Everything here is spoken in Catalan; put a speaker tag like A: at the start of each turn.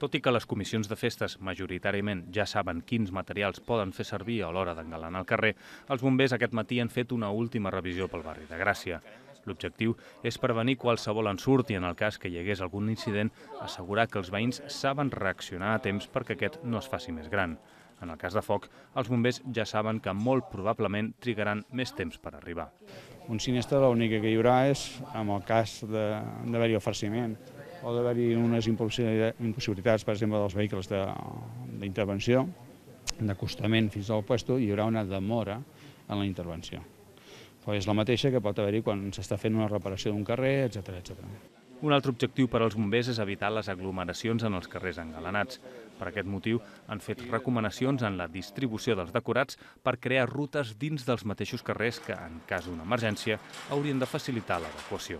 A: Tot i que les comissions de festes majoritàriament ja saben quins materials poden fer servir a l'hora d'engalanar el carrer, els bombers aquest matí han fet una última revisió pel barri de Gràcia. L'objectiu és prevenir qualsevol ensurt i, en el cas que hi hagués algun incident, assegurar que els veïns saben reaccionar a temps perquè aquest no es faci més gran. En el cas de foc, els bombers ja saben que molt probablement trigaran més temps per arribar.
B: Un sinistre l'únic que hi haurà és en el cas d'haver-hi el farciment o d'haver-hi unes impossibilitats, per exemple, dels vehicles d'intervenció, d'acostament fins al lloc, hi haurà una demora en la intervenció. Però és la mateixa que pot haver-hi quan s'està fent una reparació d'un carrer, etc.
A: Un altre objectiu per als bombers és evitar les aglomeracions en els carrers engalanats. Per aquest motiu han fet recomanacions en la distribució dels decorats per crear rutes dins dels mateixos carrers que, en cas d'una emergència, haurien de facilitar l'evacuació.